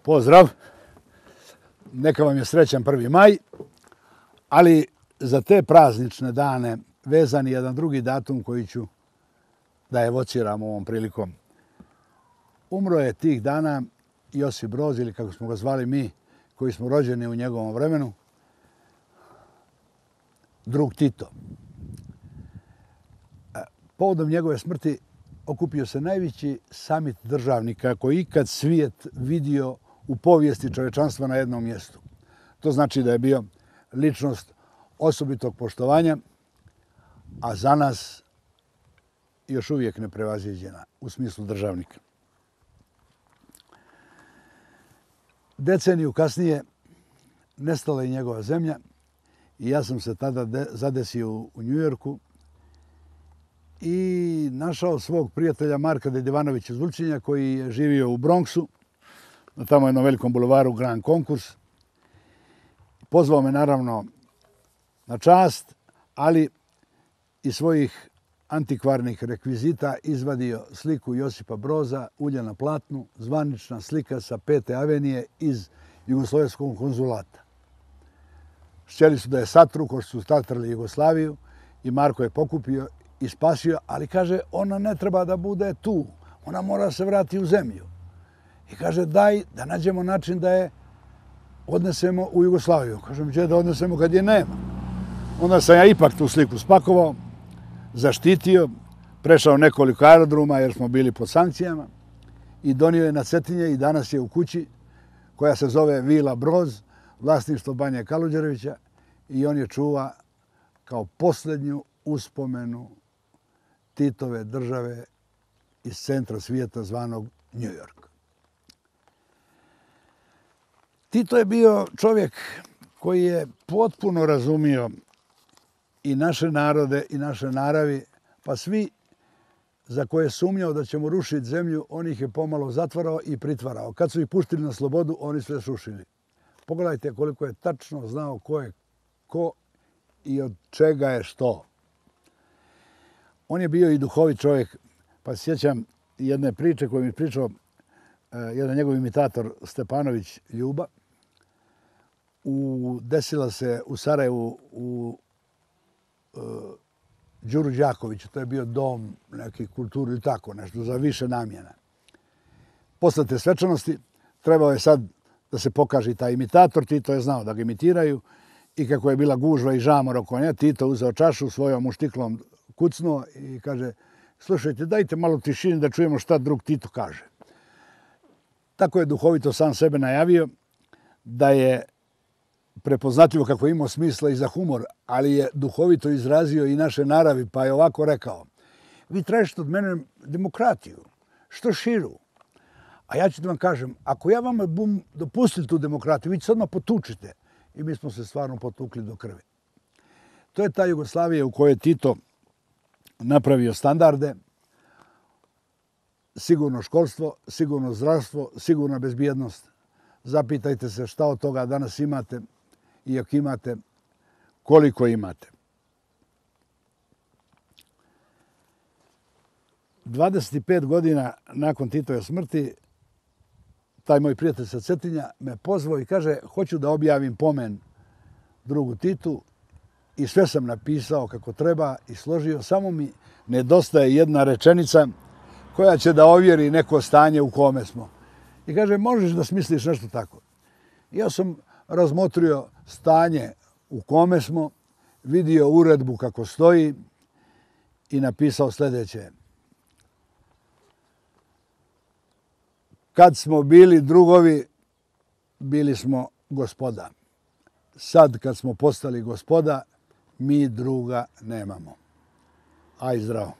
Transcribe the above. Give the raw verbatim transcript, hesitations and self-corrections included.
Pozdrav. Neka vam je srećan prvi maj, ali za te praznične dane vezan je jedan drugi datum koji ću da evociram ovom prilikom. Umro je tih dana Josip Broz, ili kako smo ga zvali mi, koji smo rođeni u njegovom vremenu, drug Tito. Povodom njegove smrti okupio se najveći samit državnika koji ikad svijet vidio u povijesti čovečanstva na jednom mjestu. To znači da je bio ličnost osobitog poštovanja, a za nas još uvijek neprevaziđena u smislu državnika. Deceniju kasnije nestala je njegova zemlja i ja sam se tada zadesio u Njujorku i našao svog prijatelja Marka Dedivanovića Zulčinja koji je živio u Bronxu, na tamo jednom velikom bulevaru Grand Concourse. Pozvao me naravno na čast, ali iz svojih antikvarnih rekvizita izvadio sliku Josipa Broza, ulje na platnu, zvanična slika sa Pete avenije iz Jugoslovenskog konzulata. Htjeli su da je satru, ko su satrali Jugoslaviju, i Marko je pokupio i spasio, ali kaže, ona ne treba da bude tu, ona mora se vrati u zemlju. I kaže, daj da nađemo način da je odnesemo u Jugoslaviju. Kažem, gdje da odnesemo kad je nema? Onda sam ja ipak tu sliku spakovao, zaštitio, prešao nekoliko aerodroma jer smo bili pod sankcijama i donio je na Cetinje i danas je u kući koja se zove Vila Broz, vlasništvo Banje Kaluđerevića, i on je čuva kao posljednju uspomenu Titove države iz centra svijeta zvanog New York. Tito je bio čovjek koji je potpuno razumio i naše narode i naše naravi, pa svi za koje je sumnjao da ćemo rušiti zemlju, on ih je pomalo zatvarao i pritvarao. Kad su ih puštili na slobodu, oni sve srušili. Pogledajte koliko je tačno znao ko je ko i od čega je što. On je bio i duhovit čovjek, pa se sjećam jedne priče koju mi pričao uh, jedan njegov imitator Stepanović Ljuba. U, desila se u Sarajevu u uh, Đuru Đakoviću, to je bio dom neki kulturi ili tako nešto, za više namjena. Posle te svečanosti trebao je sad da se pokaže taj imitator, Tito je znao da ga imitiraju i kako je bila gužva i žamor oko nje, Tito uzeo čašu, svojom uštiklom kucnuo i kaže, slušajte, dajte malo tišine da čujemo šta drug Tito kaže. Tako je duhovito sam sebe najavio da je prepoznatljivo kako je imao smisla i za humor, ali je duhovito izrazio i naše naravi, pa je ovako rekao, vi tražite od mene demokratiju, što širu. A ja ću da vam kažem, ako ja vama bum dopustili tu demokratiju, vi ćete odmah potučite. I mi smo se stvarno potukli do krvi. To je ta Jugoslavija u kojoj je Tito napravio standarde, sigurno školstvo, sigurno zdravstvo, sigurna bezbjednost. Zapitajte se šta od toga danas imate i ako imate, koliko imate. dvadeset pet godina nakon Titove smrti, taj moj prijatelj sa Cetinja me pozvao i kaže, hoću da objavim pomen drugu Titu, i sve sam napisao kako treba i složio, samo mi nedostaje jedna rečenica koja će da ovjeri neko stanje u kome smo. I kaže, možeš da smisliš nešto tako. Ja sam razmotrio stanje u kome smo, vidio uredbu kako stoji i napisao sljedeće. Kad smo bili drugovi, bili smo gospoda. Sad kad smo postali gospoda, mi druga nemamo. Aj zdravo.